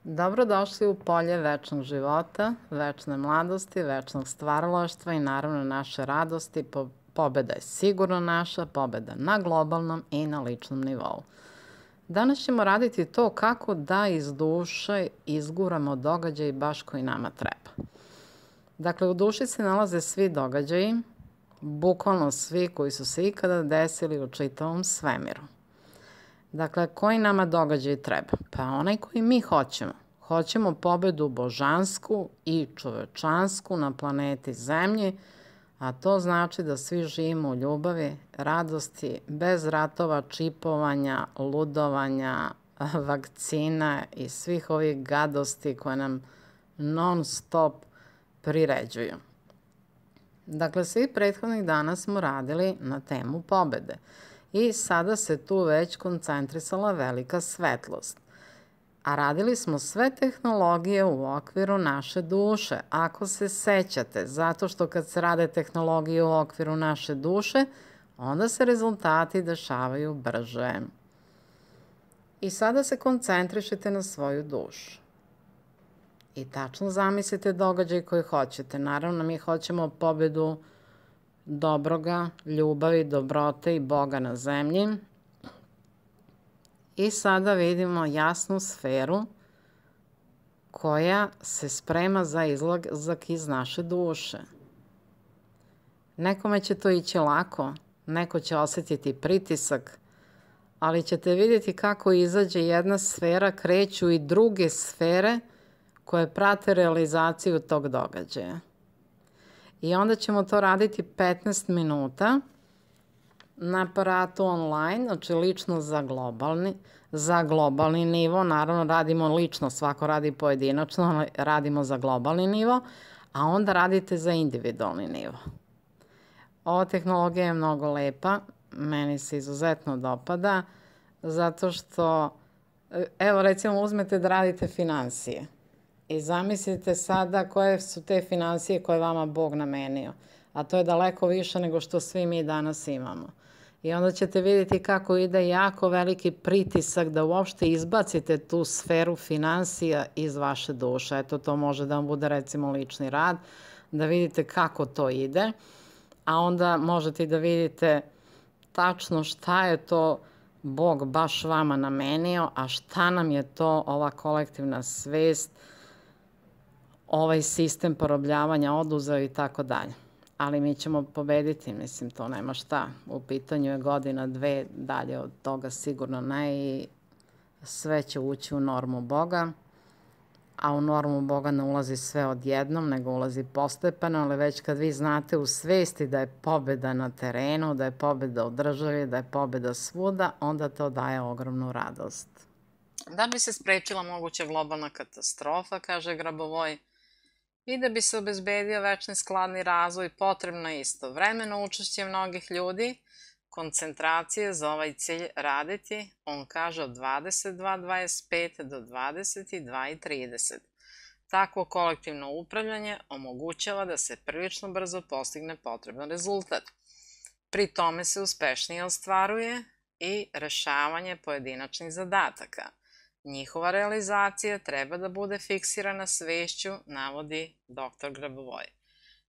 Dobrodošli u polje večnog života, večne mladosti, večnog stvaralaštva i naravno naše radosti. Pobeda je sigurno naša, pobeda na globalnom i na ličnom nivou. Danas ćemo raditi to kako da iz duše izguramo događaj baš koji nama treba. Dakle, u duši se nalaze svi događaji, bukvalno svi koji su se ikada desili u čitavom svemiru. Dakle, koji nama događaj treba? Pa onaj koji mi hoćemo. Hoćemo pobedu božansku i čovečansku na planeti Zemlji, a to znači da svi živimo u ljubavi, radosti, bez ratova, čipovanja, ludovanja, vakcina i svih ovih gadosti koje nam non stop priređuju. Dakle, svih prethodnih dana smo radili na temu pobede. I sada se tu već koncentrisala velika svetlost. A radili smo sve tehnologije u okviru naše duše, ako se sećate, zato što kad se rade tehnologije u okviru naše duše, onda se rezultati dešavaju brže. I sada se koncentrišite na svoju dušu. I tačno zamislite događaj koji hoćete. Naravno, mi hoćemo pobedu dobroga, ljubavi, dobrote i Boga na zemlji. I sada vidimo jasnu sferu koja se sprema za izlazak iz naše duše. Nekome će to ići lako, neko će osetiti pritisak, ali ćete vidjeti kako izađe jedna sfera, kreću i druge sfere koje prate realizaciju tog događaja. I onda ćemo to raditi 15 minuta na aparatu online, znači lično za globalni nivo. Naravno, radimo lično, svako radi pojedinačno, ali radimo za globalni nivo, a onda radite za individualni nivo. Ova tehnologija je mnogo lepa, meni se izuzetno dopada, zato što, evo recimo uzmete da radite finansije. I zamislite sada koje su te finansije koje vama Bog namenio. A to je daleko više nego što svi mi danas imamo. I onda ćete vidjeti kako ide jako veliki pritisak da uopšte izbacite tu sferu finansija iz vaše duše. Eto, to može da vam bude recimo lični rad, da vidite kako to ide. A onda možete i da vidite tačno šta je to Bog baš vama namenio, a šta nam je to ova kolektivna svest, ovaj sistem porobljavanja oduzeo i tako dalje. Ali mi ćemo pobediti, mislim, to nema šta. U pitanju je godina, dve, dalje od toga sigurno ne i sve će ući u normu Boga, a u normu Boga ne ulazi sve odjednom, nego ulazi postepeno, ali već kad vi znate u svesti da je pobeda na terenu, da je pobeda u državi, da je pobeda svuda, onda to daje ogromnu radost. Da bi se sprečila moguća globalna katastrofa, kaže Grabovoj, i da bi se obezbedio večni skladni razvoj, potrebno je istovremeno učešće mnogih ljudi, koncentracije za ovaj cilj raditi, on kaže od 22:25 do 22:30. Takvo kolektivno upravljanje omogućava da se prilično brzo postigne potreban rezultat. Pri tome se uspešnije ostvaruje i rešavanje pojedinačnih zadataka. Njihova realizacija treba da bude fiksirana svešću, navodi dr. Grabovoj.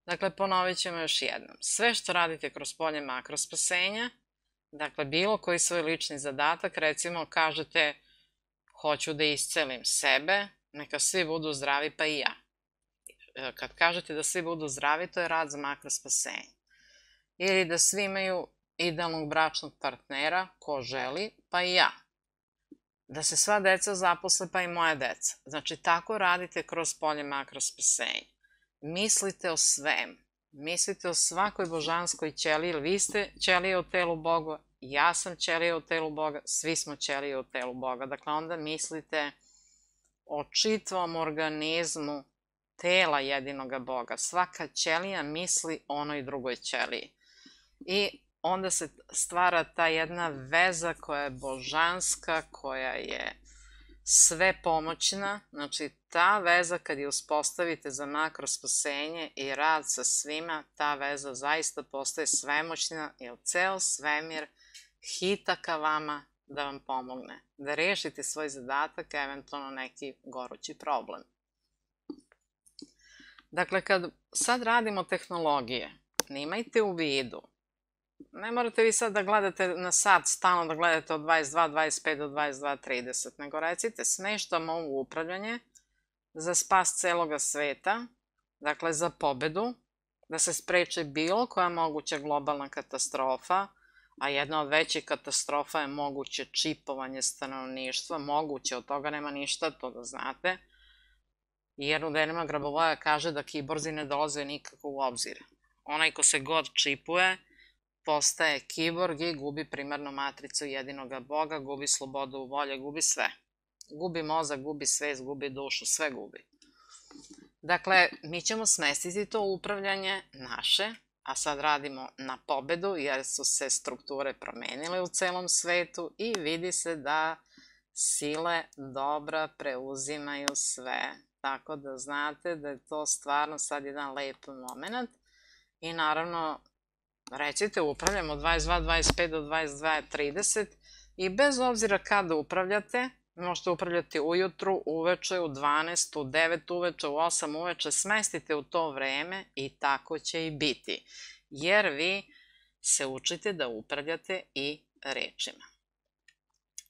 Dakle, ponovit ćemo još jednom. Sve što radite kroz polje makrospasenja, dakle, bilo koji svoj lični zadatak, recimo kažete hoću da iscelim sebe, neka svi budu zdravi pa i ja. Kad kažete da svi budu zdravi, to je rad za makrospasenje. Ili da svi imaju idealnog bračnog partnera, ko želi, pa i ja. Da se sva deca zaposle, pa i moja deca. Znači, tako radite kroz polje makrospasenja. Mislite o svemu. Mislite o svakoj božanskoj ćeliji, jer vi ste ćelije u telu Boga, ja sam ćelija u telu Boga, svi smo ćelije u telu Boga. Dakle, onda mislite o čitavom organizmu tela jedinoga Boga. Svaka ćelija misli onoj drugoj ćeliji. I onda se stvara ta jedna veza koja je božanska, koja je svepomoćna. Znači, ta veza kad je uspostavite za makrospasenje i rad sa svima, ta veza zaista postaje svemoćna, jer ceo svemir hita ka vama da vam pomogne, da rešite svoj zadatak, eventualno neki gorući problem. Dakle, kad sad radimo tehnologije, imajte u vidu, ne morate vi sad da gledate na sat, stalno da gledate od 22.25 do 22.30, nego recite smeštam ovo upravljanje za spas celoga sveta, dakle za pobedu, da se spreči bilo koja moguća globalna katastrofa, a jedna od većih katastrofa je moguće čipovanje stanovništva, moguće, od toga nema ništa, to da znate, jer u delima Grabovoja kaže da kiborzi ne dolaze nikako u obzir. Onaj ko se god čipuje, postaje kiborg i gubi primarnu matricu jedinoga Boga, gubi slobodu u volje, gubi sve. Gubi mozak, gubi svest, gubi dušu, sve gubi. Dakle, mi ćemo smestiti to upravljanje naše, a sad radimo na pobedu jer su se strukture promenile u celom svetu i vidi se da sile dobra preuzimaju sve. Tako da znate da je to stvarno sad jedan lep moment i naravno recite upravljamo od 22.25 do 22.30 i bez obzira kada upravljate, možete upravljati ujutru, uveče, u 12, u 9 uveče, u 8 uveče, smestite u to vreme i tako će i biti, jer vi se učite da upravljate i rečima.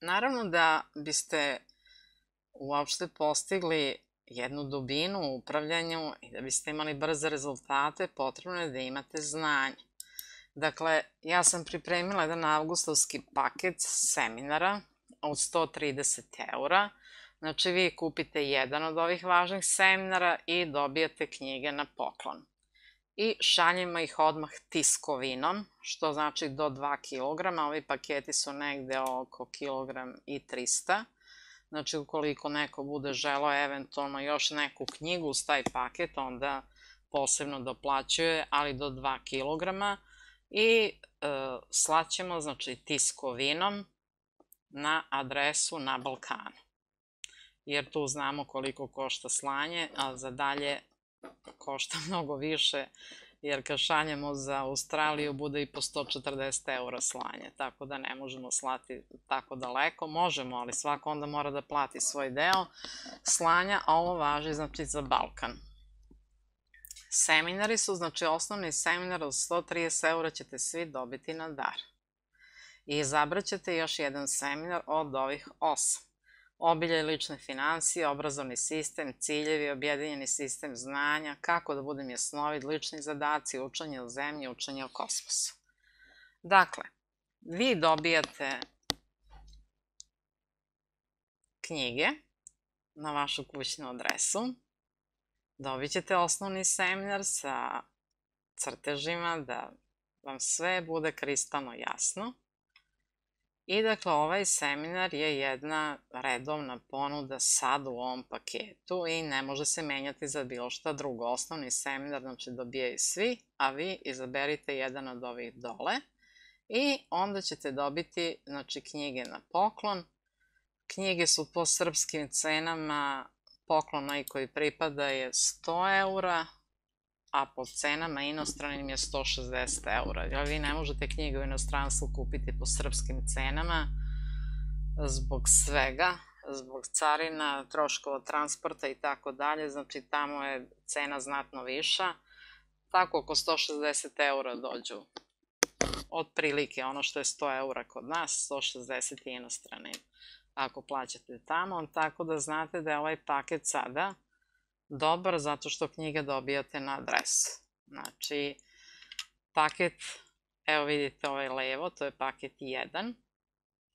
Naravno da biste uopšte postigli jednu dubinu u upravljanju i da biste imali brze rezultate, potrebno je da imate znanje. Dakle, ja sam pripremila jedan avgustovski paket seminara od 130 €. Znači, vi kupite jedan od ovih važnih seminara i dobijate knjige na poklon. I šaljemo ih odmah tiskovinom, što znači do 2 kg. Ovi paketi su negde oko 1,3 kg. Znači, ukoliko neko bude želeo eventualno još neku knjigu uz taj paket, onda posebno doplaćuje, ali do 2 kg. I slaćemo, znači, tiskovinom na adresu na Balkanu. Jer tu znamo koliko košta slanje, a za dalje košta mnogo više, jer kad šaljemo za Australiju bude i po 140 € slanje, tako da ne možemo slati tako daleko. Možemo, ali svako onda mora da plati svoj deo slanja, a ovo važi, znači, za Balkan. Seminari su, znači, osnovni seminar od 130 € ćete svi dobiti na dar. I izabrat ćete još jedan seminar od ovih 8. Obilje lične finansije, obrazovni sistem, ciljevi, objedinjeni sistem znanja, kako da budem jasnovid, lični zadaci, učenje o zemlji, učenje o kosmosu. Dakle, vi dobijate knjige na vašu kućnu adresu, dobit ćete osnovni seminar sa crtežima da vam sve bude kristalno jasno. I dakle, ovaj seminar je jedna redovna ponuda sad u ovom paketu i ne može se menjati za bilo šta drugo. Osnovni seminar, znači, dobijaju svi, a vi izaberite jedan od ovih dole i onda ćete dobiti, znači, knjige na poklon. Knjige su po srpskim cenama, poklon onaj koji pripada je 100 €, a po cenama inostranim je 160 €. Jer vi ne možete knjige u inostranstvu kupiti po srpskim cenama zbog svega, zbog carina, troškova transporta i tako dalje, znači tamo je cena znatno viša. Tako oko 160 € dođu. Otprilike ono što je 100 € kod nas, 160 je inostranim ako plaćate tamo, tako da znate da je ovaj paket sada dobar zato što knjige dobijate na adresu. Znači, paket, evo vidite ovaj levo, to je paket 1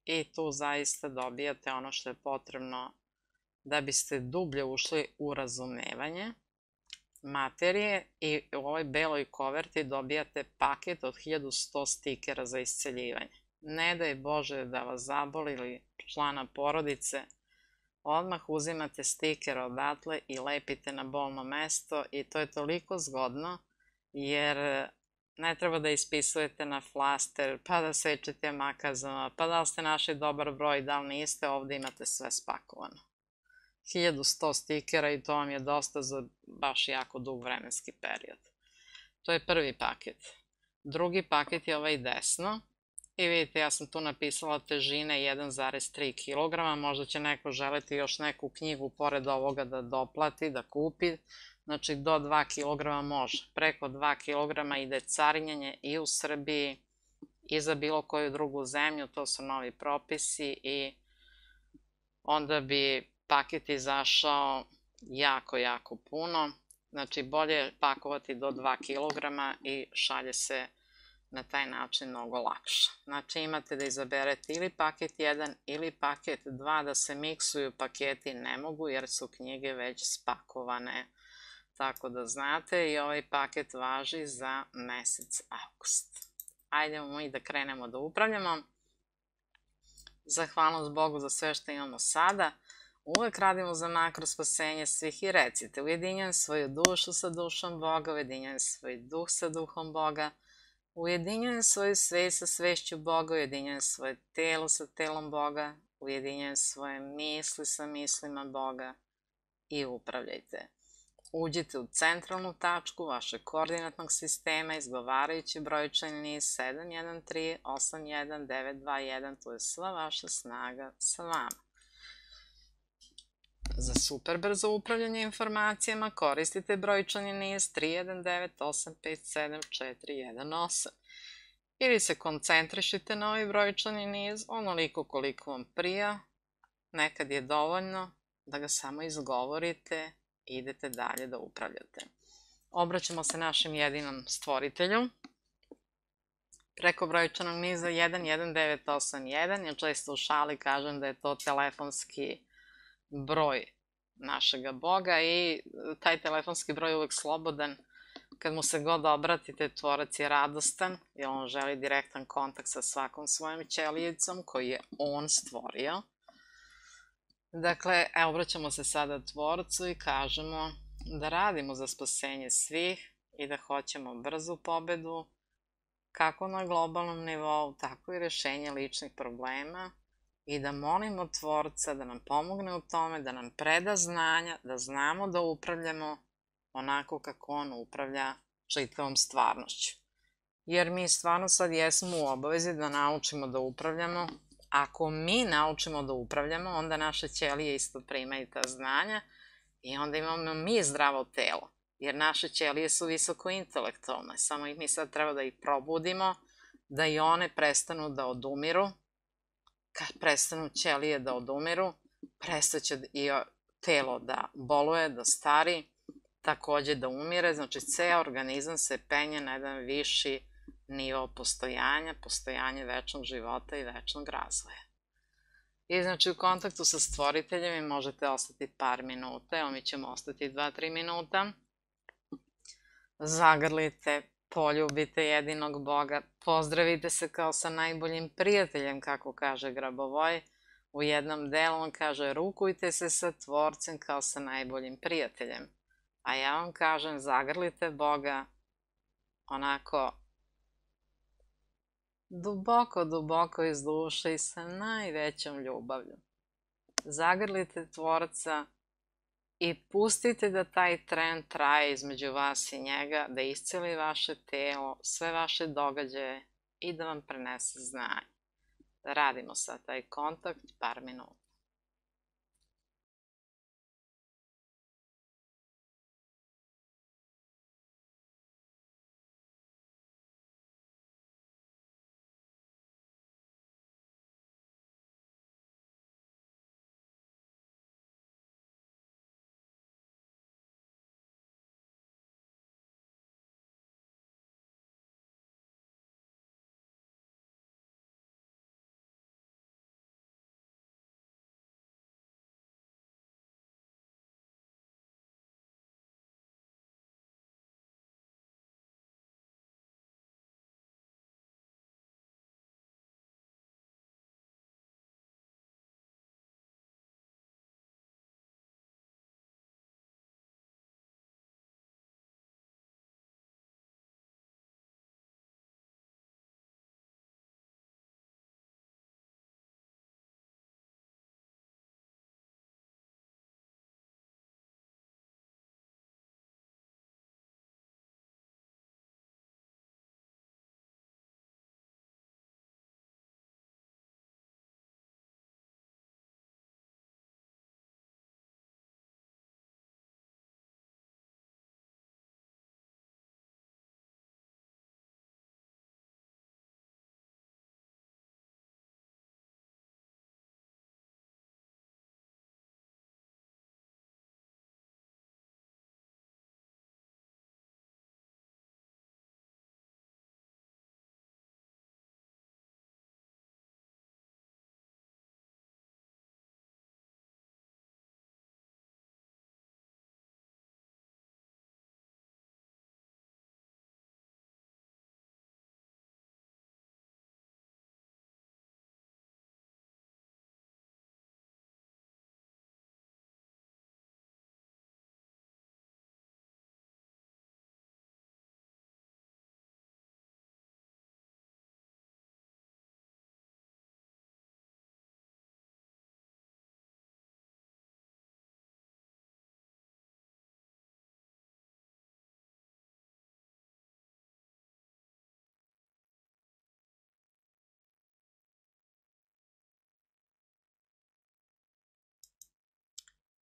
i tu zaista dobijate ono što je potrebno da biste dublje ušli u razumevanje materije i u ovoj beloj koverti dobijate paket od 1100 stikera za isceljivanje. Ne daj Bože da vas zaboli ili člana porodice, odmah uzimate stiker odatle i lepite na bolno mesto i to je toliko zgodno jer ne treba da ispisujete na flaster, pa da sečete makazama, pa da li ste našli dobar broj, da li niste, ovde imate sve spakovano. 1100 stikera i to vam je dosta za baš jako dug vremenski period. To je prvi paket. Drugi paket je ovaj desno I vidite, ja sam tu napisala težine 1,3 kg, možda će neko želeti još neku knjigu pored ovoga da doplati, da kupi, znači do 2 kg može. Preko 2 kg ide carinjenje i u Srbiji i za bilo koju drugu zemlju, to su novi propisi i onda bi paket izašao jako, jako puno. Znači bolje je pakovati do 2 kg i šalje se na taj način mnogo lakše. Znači imate da izaberete ili paket 1 ili paket 2, da se miksuju paketi ne mogu jer su knjige već spakovane. Tako da znate, i ovaj paket važi za mesec avgust. Ajdemo mi da krenemo da upravljamo. Zahvalnost Bogu za sve što imamo sada. Uvek radimo za makro spasenje svih i recite: ujedinjujem svoju dušu sa dušom Boga, ujedinjujem svoj duh sa duhom Boga, ujedinjujem svoju svest sa svešću Boga, ujedinjujem svoje telo sa telom Boga, ujedinjujem svoje misli sa mislima Boga i upravljajte. Uđite u centralnu tačku vašeg koordinatnog sistema izgovarajući brojčani niz 7138191, to je sva vaša snaga sa vama. Za super brzo upravljanje informacijama koristite brojčani niz 3198574418 ili se koncentrišite na ovaj brojčani niz onoliko koliko vam prija, nekad je dovoljno da ga samo izgovorite i idete dalje da upravljate. Obraćamo se našem jedinom stvoritelju preko brojčanog niza 11981, ja često u šali kažem da je to telefonski broj našega Boga i taj telefonski broj je uvek slobodan. Kad mu se god obratite, tvorac je radostan jer on želi direktan kontakt sa svakom svojom ćelijicom koju je on stvorio. Dakle, obraćamo se sada tvorcu i kažemo da radimo za spasenje svih i da hoćemo brzu pobedu kako na globalnom nivou, tako i rešenje ličnih problema i da molimo tvorca da nam pomogne u tome, da nam preda znanja, da znamo da upravljamo onako kako on upravlja čitavom stvarnošću. Jer mi stvarno sad jesmo u obavezi da naučimo da upravljamo. Ako mi naučimo da upravljamo, onda naše ćelije isto primaju ta znanja i onda imamo mi zdravo telo. Jer naše ćelije su visoko intelektualne, samo mi sad treba da ih probudimo, da i one prestanu da odumiru. Kad prestanu ćelije da odumiru, prestaće i telo da boluje, da stari, takođe da umire, znači ceo organizam se penje na jedan viši nivo postojanja, postojanje večnog života i večnog razvoja. I znači u kontaktu sa stvoriteljem vi možete ostati par minuta, evo mi ćemo ostati 2-3 minuta. Zagrlite, poljubite jedinog Boga, pozdravite se kao sa najboljim prijateljem, kako kaže Grabovoj. U jednom delu on kaže rukujte se sa tvorcem kao sa najboljim prijateljem. A ja vam kažem zagrlite Boga onako duboko, duboko iz duše i sa najvećom ljubavlju. Zagrlite tvorca i pustite da taj tren traje između vas i njega, da isceli vaše telo, sve vaše događaje i da vam prenese znanje. Da radimo sad taj kontakt par minuta.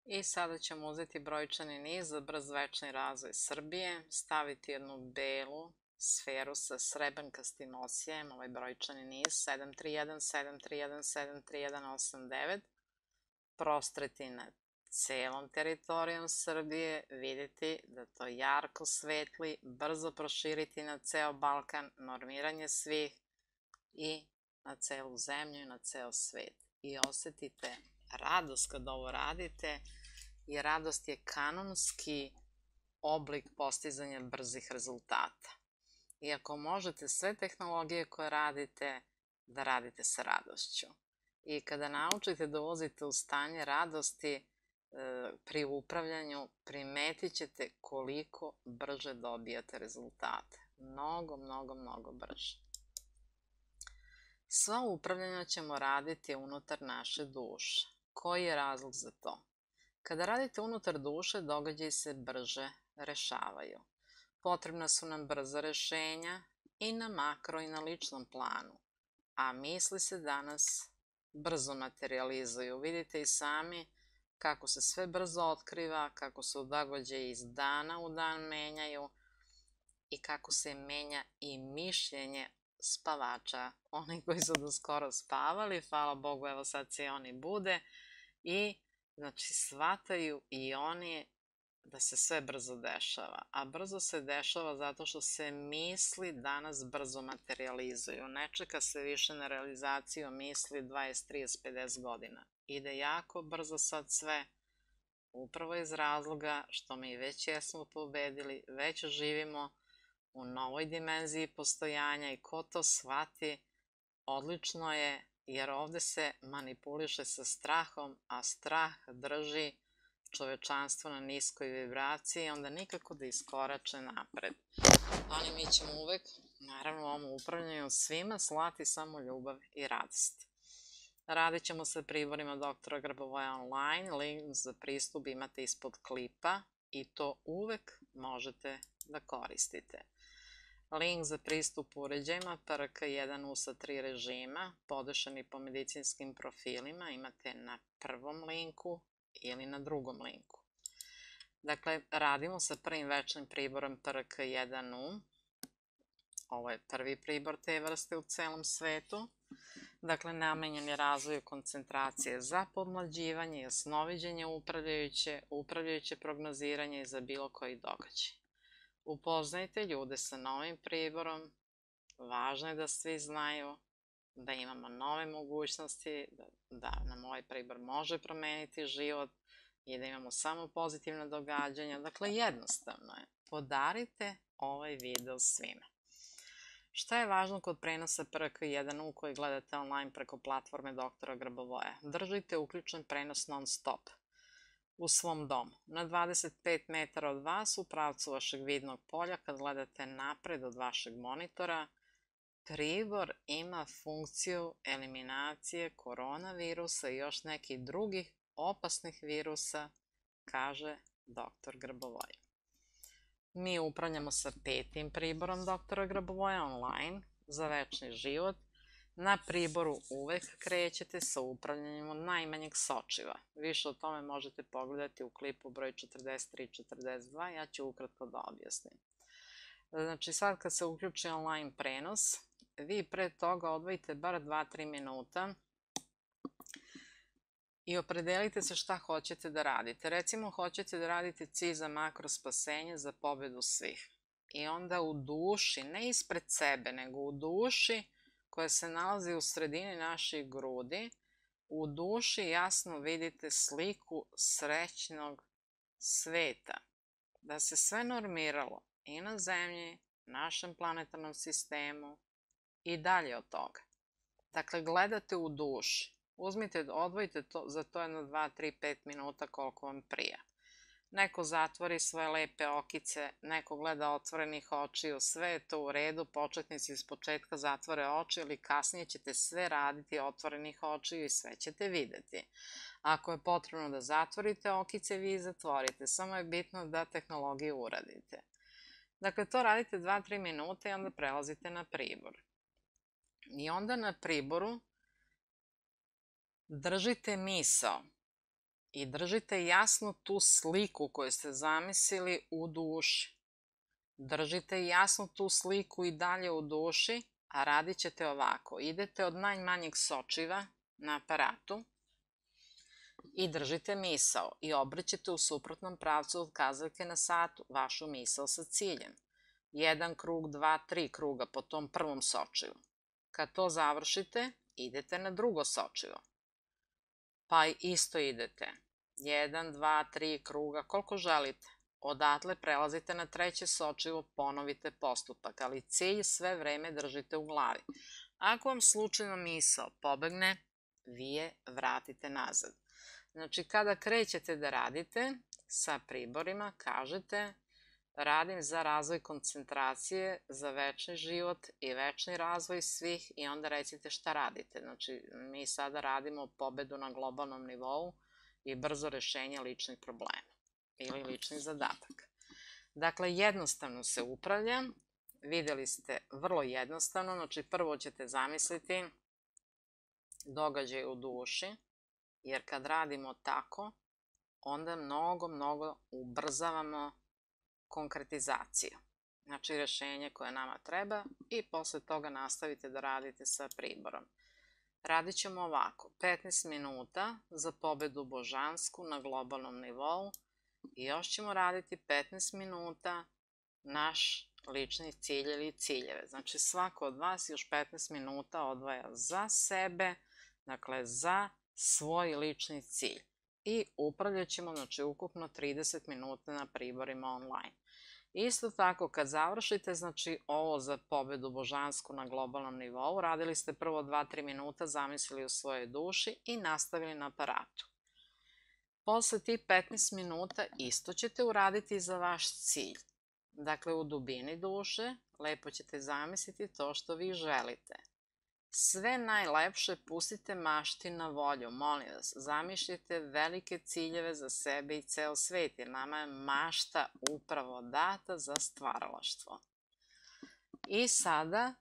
I sada ćemo uzeti brojčani niz za brz večni razvoj Srbije, staviti jednu belu sferu sa srebrnkastim osijem, ovaj brojčani niz 731, 731, 731, 89, prostreti nad celom teritorijom Srbije, vidjeti da to jarko svetli, brzo proširiti na ceo Balkan, normiranje svih i na celu zemlju i na ceo svet. I osetite radost kad ovo radite, jer radost je kanonski oblik postizanja brzih rezultata. I ako možete sve tehnologije koje radite, da radite sa radošću. I kada naučite da ulazite u stanje radosti pri upravljanju, primetit ćete koliko brže dobijate rezultate. Mnogo, mnogo, mnogo brže. Sva upravljanja ćemo raditi unutar naše duše. Koji je razlog za to? Kada radite unutar duše, događaji se brže rešavaju. Potrebna su nam brza rešenja i na makro i na ličnom planu, a misli se danas brzo materializuju. Vidite i sami kako se sve brzo otkriva, kako se događaji iz dana u dan menjaju i kako se menja i mišljenje spavača. Oni koji su do skoro spavali, hvala Bogu, evo sad se i oni bude i znači shvataju i oni da se sve brzo dešava. A brzo se dešava zato što se misli danas brzo materializuju. Ne čeka se više na realizaciju misli 20, 30, 50 godina. Ide jako brzo sad sve, upravo iz razloga što mi već jesmo pobedili, već živimo u novoj dimenziji postojanja i ko to shvati, odlično je, jer ovde se manipuliše sa strahom, a strah drži čovečanstvo na niskoj vibraciji, onda nikako da iskorače napred. Ali mi ćemo uvek, naravno u ovom upravljanju svima, slati samo ljubav i radost. Radit ćemo sa priborima doktora Grbovoja online, link za pristup imate ispod klipa i to uvek možete da koristite. Link za pristup uređajima PRK1U sa 3 režima, podešani po medicinskim profilima, imate na prvom linku ili na drugom linku. Dakle, radimo sa prvim večnim priborom PRK1U. Ovo je prvi pribor te vrste u celom svetu. Dakle, namenjen je razvoju koncentracije za podmlađivanje, jasnoviđenje upravljajuće prognoziranje i za bilo koji događaj. Upoznajte ljude sa novim priborom, važno je da svi znaju da imamo nove mogućnosti, da nam ovaj pribor može promeniti život i da imamo samo pozitivne događanja. Dakle, jednostavno je. Podarite ovaj video svima. Šta je važno kod prenosa PRK1U koji gledate online preko platforme doktora Grbovoja? Držite uključen prenos non stop u svom domu. Na 25 metara od vas u pravcu vašeg vidnog polja, kad gledate napred od vašeg monitora, pribor ima funkciju eliminacije koronavirusa i još nekih drugih opasnih virusa, kaže dr. Grbovoja. Mi upravljamo sa 5. priborom dr. Grbovoja online za večni život. Na priboru uvek krećete sa upravljanjem od najmanjeg sočiva. Više o tome možete pogledati u klipu broj 43-42, ja ću ukratko da objasnim. Znači sad kad se uključi online prenos, vi pre toga odvojite bar 2-3 minuta i opredelite se šta hoćete da radite. Recimo, hoćete da radite cilj za makro spasenje, za pobedu svih. I onda u duši, ne ispred sebe, nego u duši koja se nalazi u sredini naših grudi, u duši jasno vidite sliku srećnog sveta. Da se sve normiralo i na Zemlji, našem planetarnom sistemu i dalje od toga. Dakle, gledate u duši. Uzmite, odvojite za to jedno 2, 3, 5 minuta koliko vam prija. Neko zatvori svoje lepe okice, neko gleda otvorenih očiju, sve je to u redu, početnici iz početka zatvore oči, ali kasnije ćete sve raditi otvorenih očiju i sve ćete videti. Ako je potrebno da zatvorite okice, vi zatvorite, samo je bitno da tehnologiju uradite. Dakle, to radite 2-3 minuta i onda prelazite na pribor. I onda na priboru držite misao I držite jasno tu sliku koju ste zamislili u duši. Držite jasno tu sliku i dalje u duši, a radit ćete ovako. Idete od najmanjeg sočiva na aparatu i držite misao i obrćete u suprotnom pravcu od kazaljke na satu vašu misao sa ciljem. 1 krug, 2, 3 kruga po tom prvom sočivu. Kad to završite, idete na drugo sočivo. Pa isto idete. 1, 2, 3 kruga, koliko želite. Odatle prelazite na treće sočivo, ponovite postupak, ali cilj sve vreme držite u glavi. Ako vam slučajno misao pobegne, vi je vratite nazad. Znači, kada krećete da radite sa priborima, kažete radim za razvoj koncentracije, za večni život i večni razvoj svih i onda recite šta radite. Znači, mi sada radimo pobedu na globalnom nivou i brzo rešenje ličnih problema ili lični zadatak. Dakle, jednostavno se upravlja. Videli ste, vrlo jednostavno. Znači, prvo ćete zamisliti događaj u duši, jer kad radimo tako, onda mnogo ubrzavamo konkretizaciju. Znači, rešenje koje nama treba i posle toga nastavite da radite sa priborom. Radit ćemo ovako, 15 minuta za pobedu božansku na globalnom nivou i još ćemo raditi 15 minuta naš lični cilj ili ciljeve. Znači, svako od vas još 15 minuta odvaja za sebe, dakle, za svoj lični cilj. I upravljat ćemo, znači, ukupno 30 minuta na priborima online. Isto tako, kad završite, znači, ovo za pobedu božansku na globalnom nivou, radili ste prvo 2-3 minuta, zamislili u svojoj duši i nastavili na aparatu. Posle tih 15 minuta isto ćete uraditi za vaš cilj. Dakle, u dubini duše lepo ćete zamisliti to što vi želite. Sve najlepše pustite mašti na volju, molim vas, zamišljite velike ciljeve za sebe i ceo svet, jer nama je mašta upravo data za stvaralaštvo. I sada,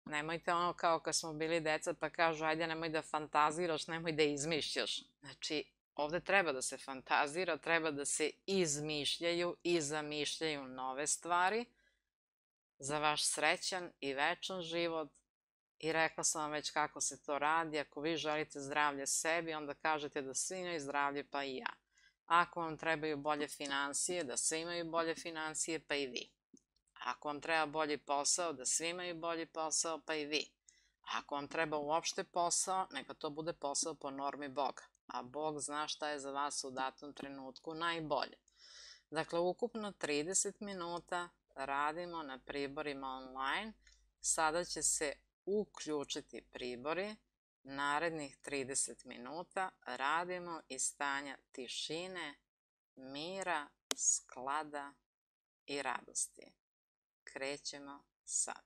nemojte ono kao kad smo bili deca pa kažu ajde nemoj da fantaziraš, nemoj da izmišljaš. Znači, ovde treba da se fantazira, treba da se izmišljaju i zamišljaju nove stvari za vaš srećan i večan život. I rekla sam vam već kako se to radi. Ako vi želite zdravlje sebi, onda kažete da svi imaju zdravlje, pa i ja. Ako vam trebaju bolje finansije, da svi imaju bolje finansije, pa i vi. Ako vam treba bolji posao, da svi imaju bolji posao, pa i vi. Ako vam treba uopšte posao, neka to bude posao po normi Boga. A Bog zna šta je za vas u datom trenutku najbolje. Dakle, ukupno 30 minuta radimo na priborima online. Sada će se uključiti pribori. Narednih 30 minuta radimo iz stanja tišine, mira, sklada i radosti. Krećemo sad.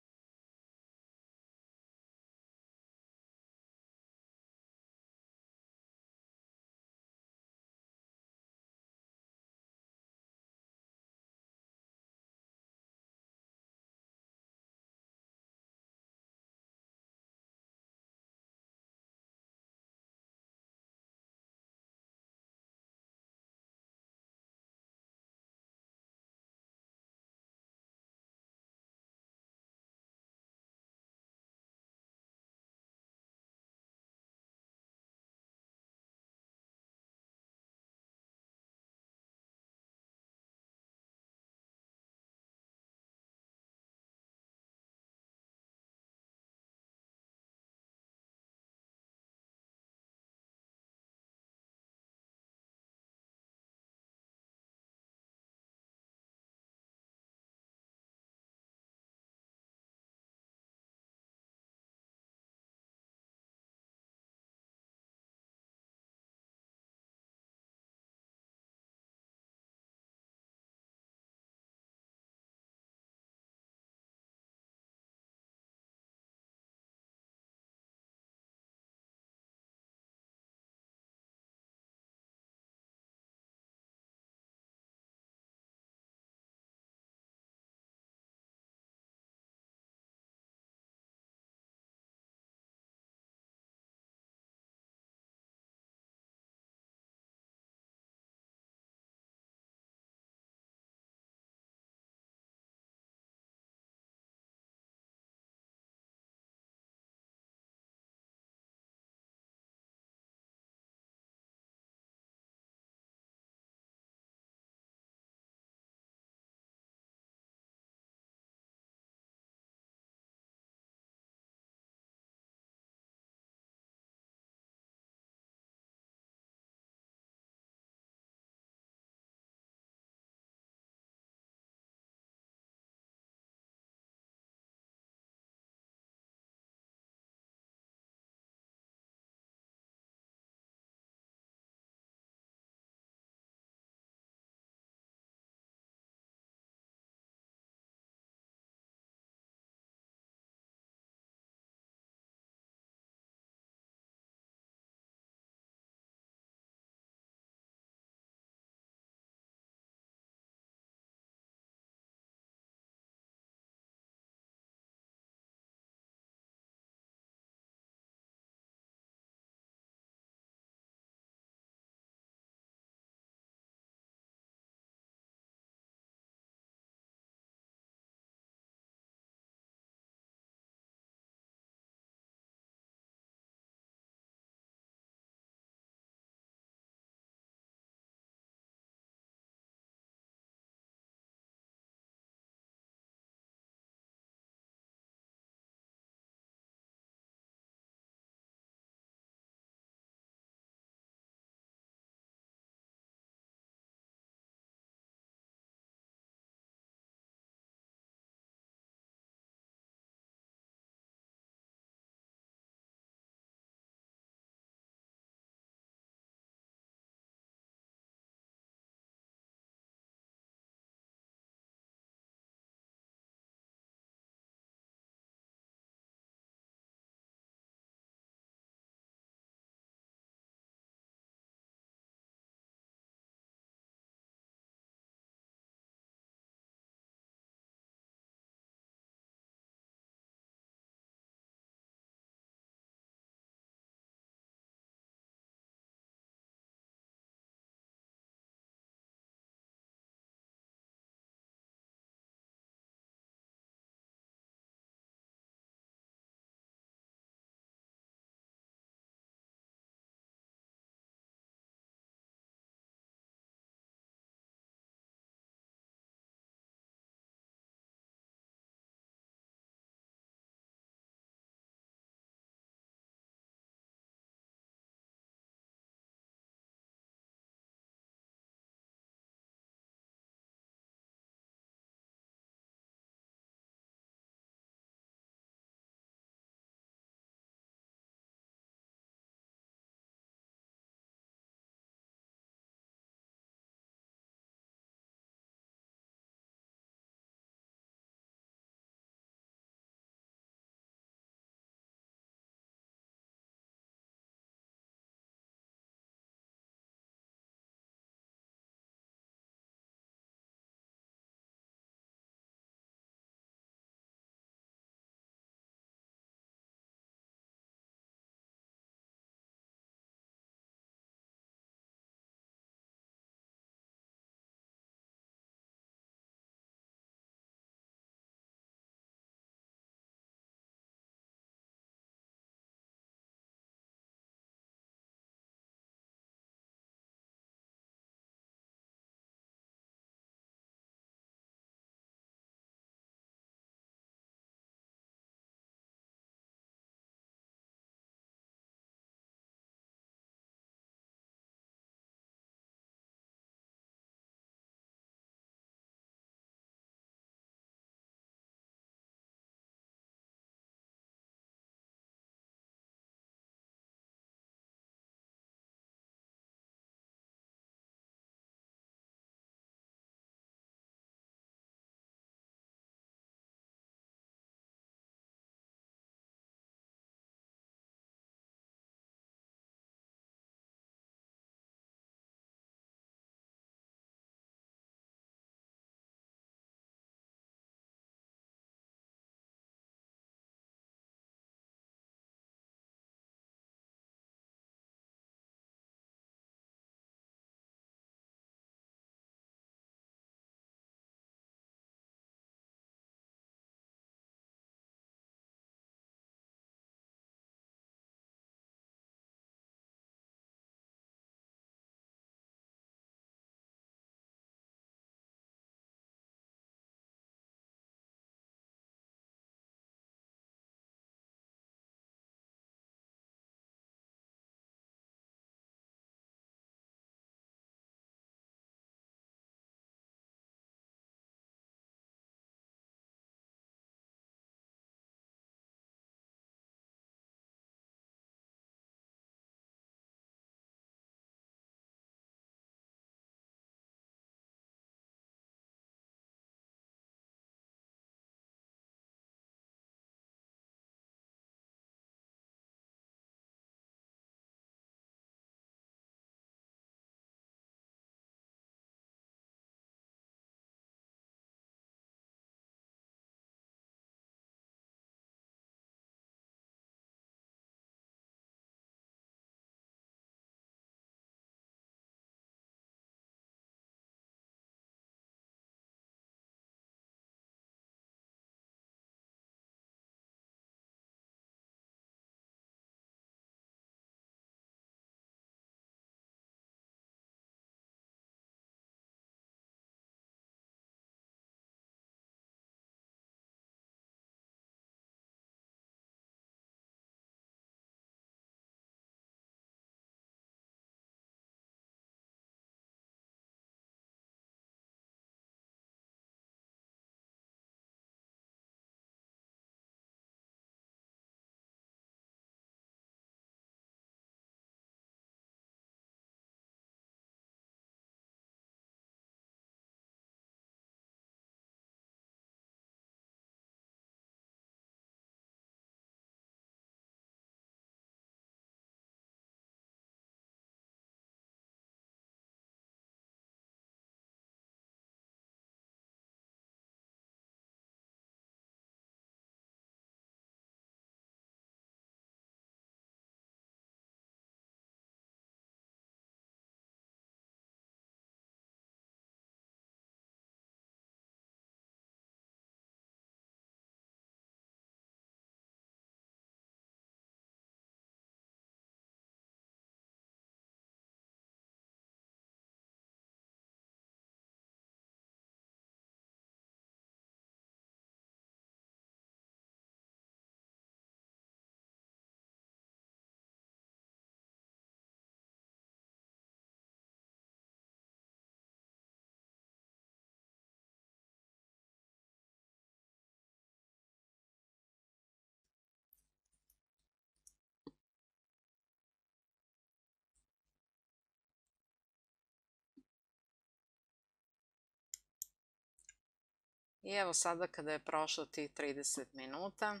I evo sada kada je prošlo tih 30 minuta,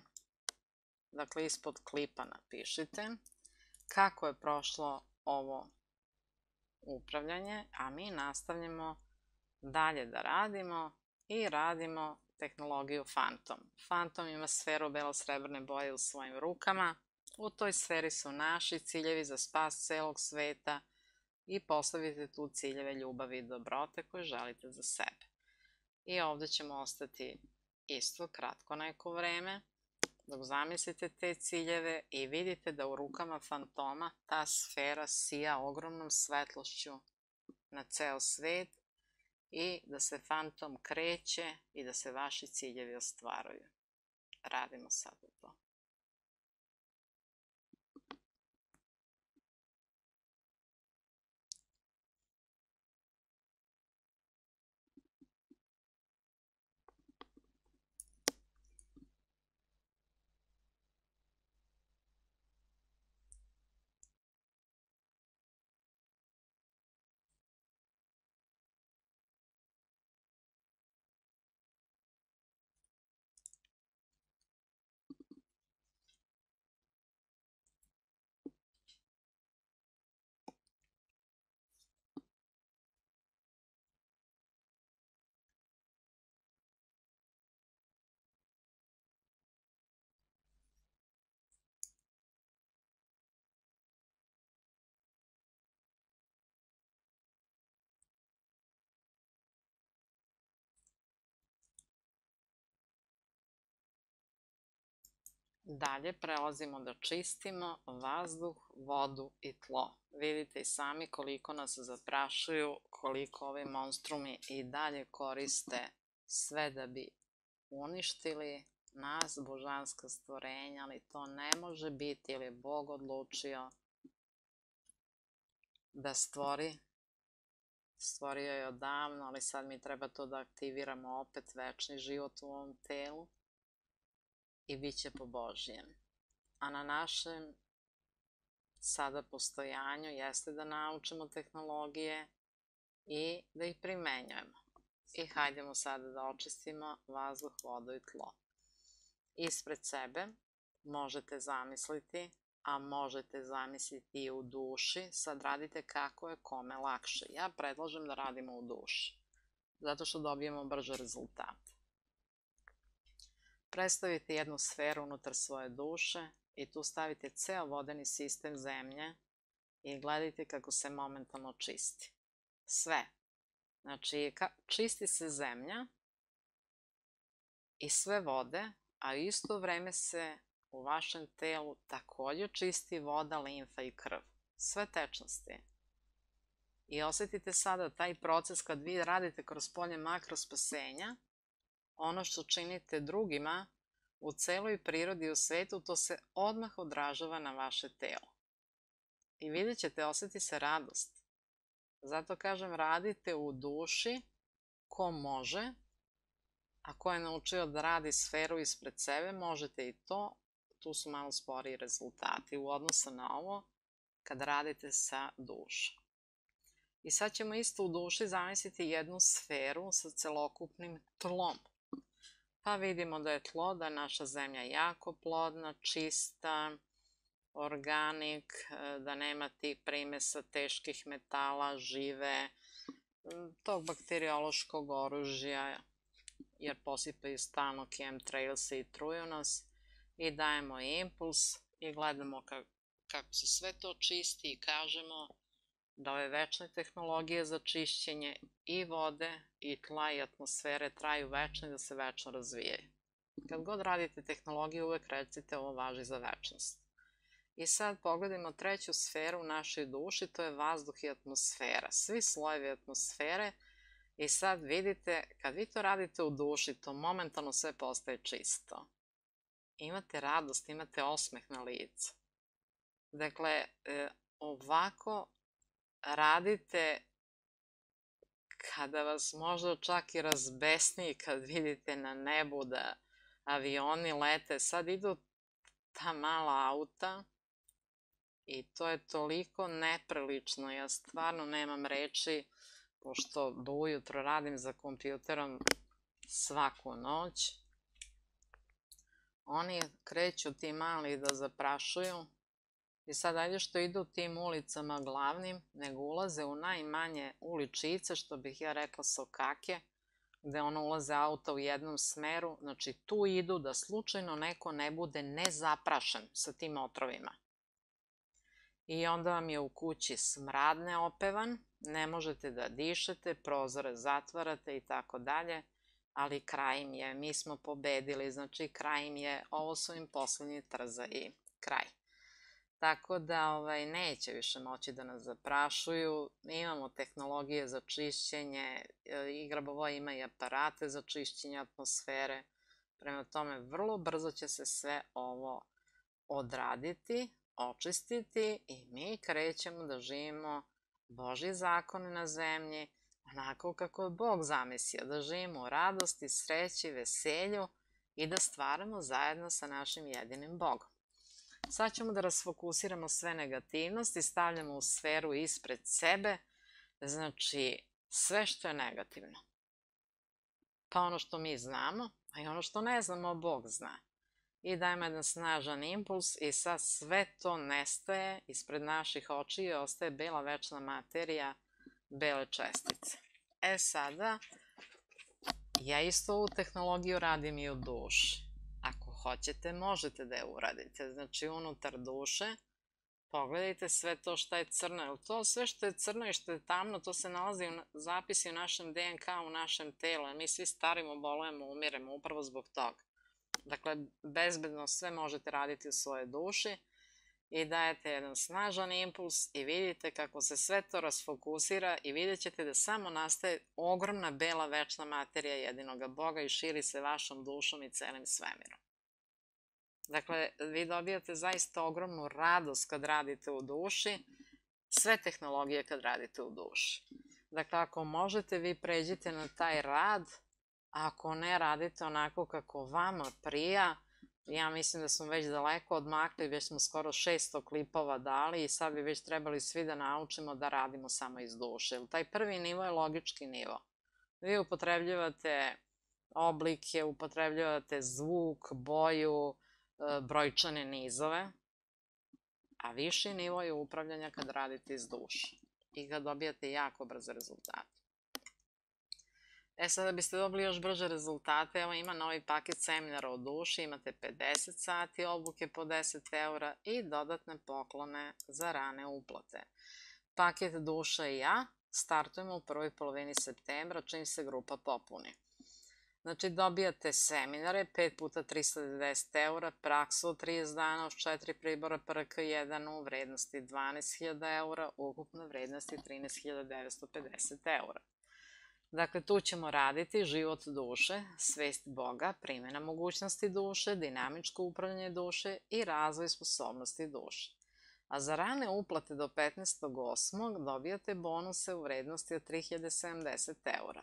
dakle ispod klipa napišite kako je prošlo ovo upravljanje, a mi nastavljamo dalje da radimo i radimo tehnologiju Phantom. Phantom ima sferu belo-srebrne boje u svojim rukama. U toj sferi su naši ciljevi za spas celog sveta i postavite tu ciljeve ljubavi i dobrote koje želite za sebe. I ovde ćemo ostati isto kratko neko vreme dok zamislite te ciljeve i vidite da u rukama fantoma ta sfera sija ogromnom svetlošću na ceo svet i da se fantom kreće i da se vaši ciljevi ostvaruju. Radimo sada to. Dalje prelazimo da čistimo vazduh, vodu i tlo. Vidite i sami koliko nas zaprašuju, koliko ovi monstrumi i dalje koriste sve da bi uništili nas, božanska stvorenja, ali to ne može biti jer je Bog odlučio da stvori. Stvorio je odavno, ali sad mi treba to da aktiviramo opet večni život u ovom telu i bit će po Božjem. A na našem sada postojanju jeste da naučimo tehnologije i da ih primenjujemo. I hajdemo sada da očistimo vazduh, vodu i tlo. Ispred sebe možete zamisliti, a možete zamisliti i u duši, sad radite kako je kome lakše. Ja predlažem da radimo u duši, zato što dobijemo brže rezultate. Predstavite jednu sferu unutar svoje duše i tu stavite ceo vodeni sistem zemlje i gledajte kako se momentalno čisti. Sve. Znači, čisti se zemlja i sve vode, a u isto vreme se u vašem telu takođe čisti voda, limfa i krv. Sve tečnosti. I osetite sada taj proces kad vi radite kroz polje makrospasenja, ono što činite drugima u celoj prirodi i u svetu, to se odmah odražava na vaše telo. I vidjet ćete, oseti se radost. Zato kažem, radite u duši ko može, a ko je naučio da radi sferu ispred sebe, možete i to. Tu su malo sporiji rezultati u odnosu na ovo kad radite sa dušom. I sad ćemo isto u duši zamisliti jednu sferu sa celokupnim tlom. Pa vidimo da je tlo, da je naša zemlja jako plodna, čista, organik, da nema tih primesa teških metala, žive, tog bakteriološkog oružja, jer posipaju stalno chemtrailse i truju nas, i dajemo impuls i gledamo kako se sve to čisti i kažemo da ove večne tehnologije za čišćenje i vode i tla i atmosfere traju večno i da se večno razvijaju. Kad god radite tehnologiju, uvek recite ovo važi za večnost. I sad pogledajmo treću sferu u našoj duši, to je vazduh i atmosfera. Svi slojevi atmosfere. I sad vidite, kad vi to radite u duši, to momentalno sve postaje čisto. Imate radost, imate osmeh na licu. Dakle, ovako radite kada vas možda čak i razbesni, kad vidite na nebu da avioni lete. Sad idu ta mala auta i to je toliko neprilično. Ja stvarno nemam reči, pošto do ujutro radim za kompjuterom svaku noć. Oni kreću ti mali da zaprašuju i sad ajde što idu tim ulicama glavnim, nego ulaze u najmanje uličice, što bih ja rekla sokake, gde ulaze auta u jednom smeru, znači tu idu da slučajno neko ne bude nezaprašen sa tim otrovima. I onda vam je u kući smrad neopevan, ne možete da dišete, prozore zatvarate i tako dalje, ali kraj im je, mi smo pobedili, znači kraj im je, ovo su im poslednji trza i kraj. Tako da neće više moći da nas zaprašuju, imamo tehnologije za čišćenje, i Grabovoja ima i aparate za čišćenje atmosfere, prema tome vrlo brzo će se sve ovo odraditi, očistiti i mi krećemo da živimo Božji zakon na zemlji, onako kako je Bog zamislio, da živimo u radosti, sreći, veselju i da stvaramo zajedno sa našim jedinim Bogom. Sad ćemo da rasfokusiramo sve negativnosti, stavljamo u sferu ispred sebe, znači sve što je negativno. Pa ono što mi znamo, a i ono što ne znamo, Bog zna. I dajemo jedan snažan impuls i sad sve to nestaje ispred naših očiju i ostaje bela večna materija, bele čestice. Sada, ja isto ovu tehnologiju radim i u duši. Ako hoćete, možete da je uradite. Znači, unutar duše, pogledajte sve to što je crno. To sve što je crno i što je tamno, to se nalazi u zapisi u našem DNK, u našem telu. Mi svi starimo, bolujemo, umiremo upravo zbog toga. Dakle, bezbedno sve možete raditi u svojoj duši i dajete jedan snažan impuls i vidite kako se sve to rasfokusira i vidjet ćete da samo nastaje ogromna bela večna materija jedinoga Boga i širi se vašom dušom i celim svemirom. Dakle, vi dobijate zaista ogromnu radost kad radite u duši, sve tehnologije kad radite u duši. Dakle, ako možete, vi pređite na taj rad, a ako ne, radite onako kako vama prija. Ja mislim da smo već daleko odmakli, već smo skoro 600 klipova dali i sad bi već trebali svi da naučimo da radimo samo iz duše. Taj prvi nivo je logički nivo. Vi upotrebljavate oblike, upotrebljavate zvuk, boju, brojčane nizove, a viši nivo je upravljanja kad radite iz duše i kad dobijate jako brze rezultate. Sada da biste dobili još brže rezultate, evo ima novi paket seminara o duši, imate 50 sati obuke po 10 € i dodatne poklone za rane uplate. Paket Duša i ja startujemo u prvoj polovini septembra, čim se grupa popuni. Znači, dobijate seminare, 5 puta 390 €, praksu od 30 dana uz 4 pribora PRK1 u vrednosti 12.000 €, ukupna vrednosti 13.950 €. Dakle, tu ćemo raditi život duše, svest Boga, primjena mogućnosti duše, dinamičko upravljanje duše i razvoj sposobnosti duše. A za rane uplate do 15.8. dobijate bonuse u vrednosti od 3.070 €.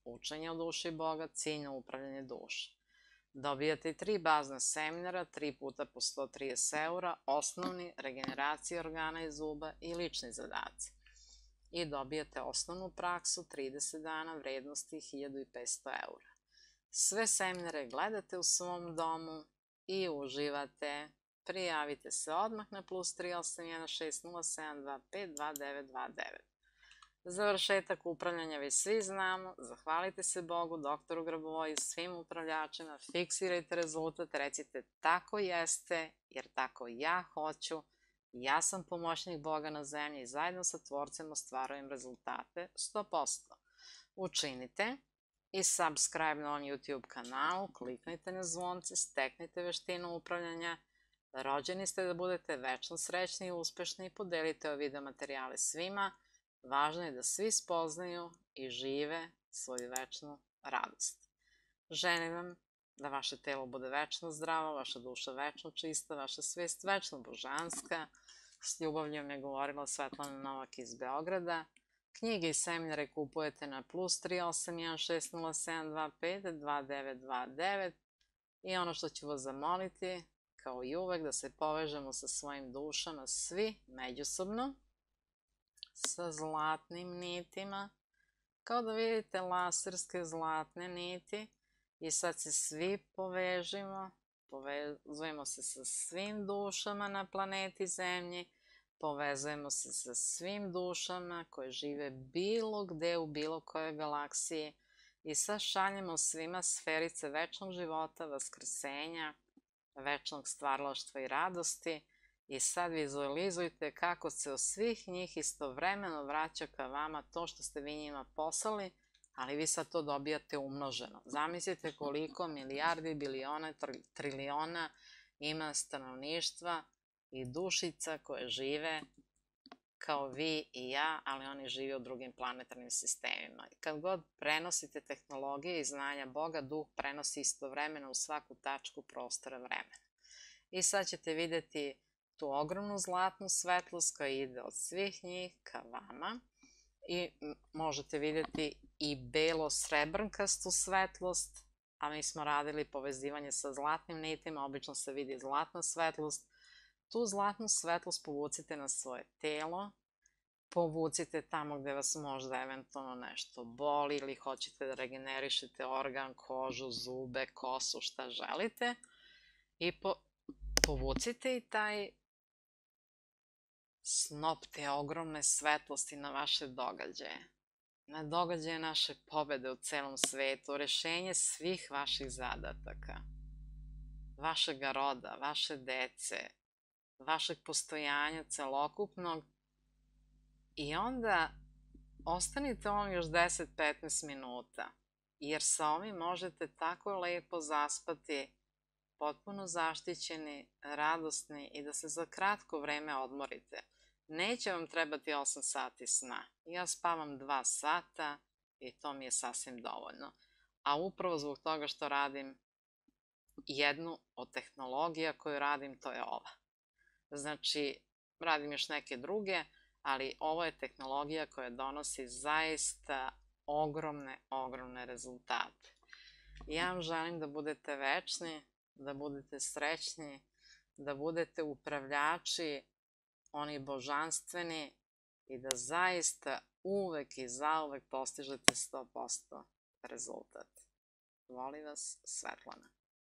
Učenje o duši Boga, ciljno upravljanje duše. Dobijate i 3 bazna seminara, 3 puta po 130 €, osnovni, regeneracija organa i zuba i lični zadaci. I dobijate osnovnu praksu 30 dana vrednosti 1.500 €. Sve seminare gledate u svom domu i uživate. Prijavite se odmah na +381 607 25 2929. Završetak upravljanja već svi znamo, zahvalite se Bogu, doktoru Grabovoju i svim upravljačima, fiksirajte rezultat, recite tako jeste, jer tako ja hoću, ja sam pomoćnik Boga na zemlji i zajedno sa Tvorcem ostvarujem rezultate 100%. Učinite i subscribe na ovom YouTube kanalu, kliknite na zvonce, steknite veštinu upravljanja. Rođeni ste da budete večno srećni i uspešni i podelite ove video materijale svima. Važno je da svi spoznaju i žive svoju večnu radost. Želim vam da vaše telo bude večno zdravo, vaša duša večno čista, vaša svest večno božanska. S ljubavljom je govorila Svetlana Novak iz Beograda. Knjige i seminare kupujete na +381 607 25 2929 i ono što ću vas zamoliti, kao i uvek, da se povežemo sa svojim dušama svi međusobno, sa zlatnim nitima, Kao da vidite laserske zlatne niti i sad se svi povežimo, povezujemo se sa svim dušama na planeti Zemlji, povezujemo se sa svim dušama koje žive bilo gde u bilo kojoj galaksiji i sad šaljemo svima sferice večnog života, vaskrsenja, večnog stvaralaštva i radosti i sad vizualizujte kako se od svih njih istovremeno vraća ka vama to što ste vi njima poslali, ali vi sad to dobijate umnoženo. Zamislite koliko milijardi, biliona, triliona ima stanovništva i dušica koje žive kao vi i ja, ali oni žive u drugim planetarnim sistemima. I kad god prenosite tehnologije i znanja Boga, duh prenosi istovremeno u svaku tačku prostora vremena. I sad ćete videti tu ogromnu zlatnu svetlost koja ide od svih njih ka vama i možete videti i belo-srebrnkastu svetlost, a mi smo radili povezivanje sa zlatnim nitima, obično se vidi zlatna svetlost. Tu zlatnu svetlost povucite na svoje telo, povucite tamo gde vas možda eventualno nešto boli ili hoćete da regenerišete organ, kožu, zube, kosu, šta želite i povucite i taj snop te ogromne svetlosti na vaše događaje, na događaje naše pobede u celom svetu, rešenje svih vaših zadataka, vašega roda, vaše dece, vašeg postojanja celokupnog i onda ostanite on još 10-15 minuta, jer sa ovim možete tako lepo zaspati, potpuno zaštićeni, radosni i da se za kratko vreme odmorite. Neće vam trebati 8 sati sna. Ja spavam 2 sata i to mi je sasvim dovoljno. A upravo zbog toga što radim jednu od tehnologija koju radim, to je ova. Znači, radim još neke druge, ali ovo je tehnologija koja donosi zaista ogromne rezultate. Ja vam želim da budete večni, da budete srećni, da budete upravljači, oni božanstveni i da zaista uvek i zauvek postižete 100% rezultat. Voli vas, Svetlana.